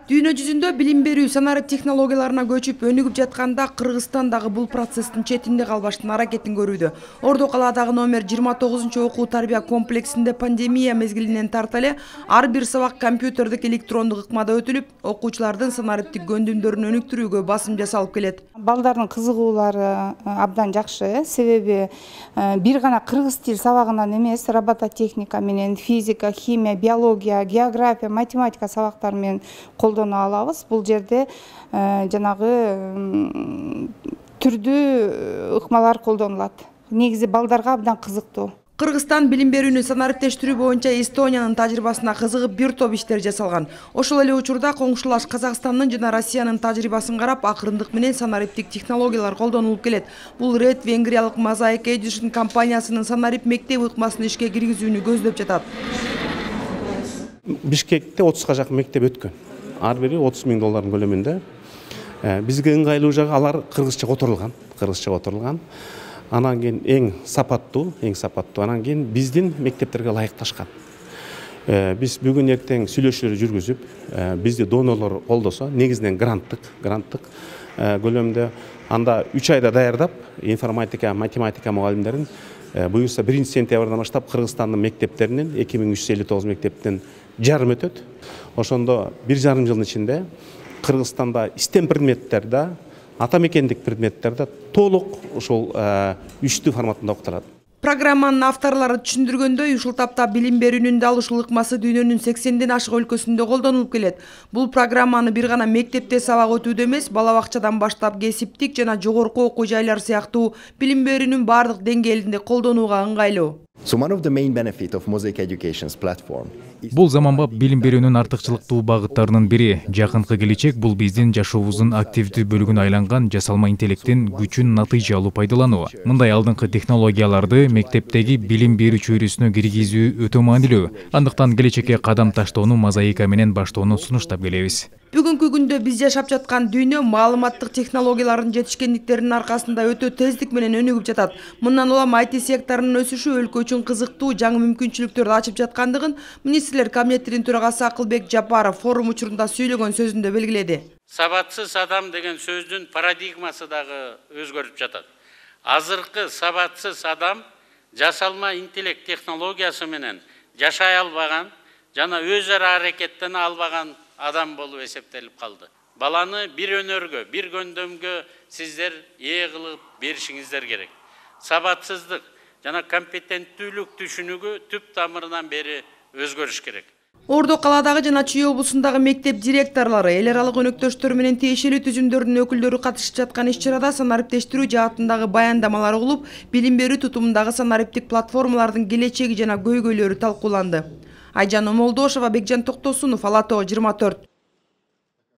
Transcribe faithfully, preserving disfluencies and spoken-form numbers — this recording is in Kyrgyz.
Дүйнө жүзүндө билим берүү санарип технологияларына көчүп өнүгүп жатканда Кыргызстан дагы бул процесстин четинде калбаштын аракетин көрүүдө. Ордо калаадагы номер жыйырма тогузунчу окуу тарбия комплексинде пандемия мезгилинен тарта эле ар бир сабак компьютердик электрондук ыкмада өтүлүп, окуучулардын санариптик көндүмдөрүн өнүктүрүүгө басым жасалып келет. Балдардын кызыгуулары абдан жакшы, себеби бир гана кыргыз тил сабагынан эмес, робототехника менен, физика, химия, биология, география, математика сабактары менен колдоно алабыз. Бул жерде жанагы түрдүү ыкмалар колдонулат. Негизи балдарга абдан кызыктуу. Кыргызстан билим берүүнү санариптештирүү боюнча Эстониянын тажрыйбасына кызыгып бир топ иштер жасалган. Ошол эле учурда коңшулаш Казакстандын жана Россиянын тажрыйбасын карап, акырындык менен санариптик технологиялар колдонулуп келет. Бул Ред венгриялык Mosaic Education компаниясынын санарип мектеп ыкмасын ишке киргизүүнү көздөп жатат. Бишкекте отузга жакын мектеп өткөн. Ар бири отуз миң доллардын көлөмүндө. Бизге ыңгайлуу жагы алар кыргызча которулган, кыргызча которулган. Анан кийин эң сапаттуу, эң сапаттуу анан кийин биздин мектептерге ылайыкташкан. Биз бүгүн эртең сүйлөшүүлөр жүргүзүп, бизди донорлор колдосо, негизинен гранттык, гранттык көлөмдө анда үч айда даярдап, информатика, математика мугалимдерин буюрса биринчи сентябрдан баштап Кыргызстандын мектептеринен эки миң үч жүз элүү тогуз мектептен жарым өтөт. Ошондо бир жарым жылдын ичинде Кыргызстанда истем предметтерде, ата мекендик предметтерде толук ушул үчтүү форматында окутулат. Программанын авторлору түшүндүргөндөй, ушул тапта билим берүүнүн дал ушул ыкмасы дүйнөнүн сексенден ашык өлкөсүндө колдонулуп келет. Бул программаны бир гана мектепте сабак өтүүдө эмес, бала бакчадан баштап кесиптик жана жогорку окуу жайлар сыяктуу билим берүүнүн бардык деңгээлинде колдонууга ыңгайлуу. So one of the main benefit of Mosaic Education's platform. Бул заманбап билим берүүнүн артыкчылыктуу багыттарынын бири. Жакынкы келечек бул биздин жашообуздун активдүү бөлүгүнө айланган жасалма интеллекттин күчүн натыйжалуу пайдалануу. Мындай алдыңкы технологияларды мектептеги билим берүү чөйрөсүнө киргизүү өтө маанилүү. Андыктан келечекке кадам таштоону Мозаика менен баштоону сунуштап келебиз. Бүгүнкү күндө биз жашап жаткан дүйнө маалыматтык технологиялардын жетишкендиктеринин аркасында өтө тездик менен өнүгүп жатат. Мындан улам ай ти секторунун өсүшү өлкө үчүн кызыктуу жаңы мүмкүнчүлүктөрдү ачып жаткандыгын министрлер кабинетинин төрагасы Акылбек Жапаров форум учурунда сүйлөгөн сөзүндө белгиледи. Сабатсыз адам деген сөздүн парадигмасы дагы өзгөрүп жатат. Азыркы сабатсыз адам жасалма интеллект технологиясы менен жашай албаган жана өз ара аракеттене албаган адам болуп эсептелип калды. Баланы бир өнөргө, бир көндөмгө сиздер ээ кылып беришиңиздер керек. Сабатсыздык жана компетенттүүлүк түшүнүгү түп тамырынан бери өзгөрүш керек. Ордо калаадагы жана Чүй облусундагы мектеп директорлору, эл аралык өнөктөштөр менен тиешелүү түзүмдөрдүн өкүлдөрү катышып жаткан иш-чарада санариптештирүү жаатындагы баяндамалар угулуп, билим берүү тутумундагы санариптик платформалардын келечеги жана көйгөйлөрү талкууланды. Айжан Омолдошова, Бекжан Токтосунов, Ала Тоо жыйырма төрт.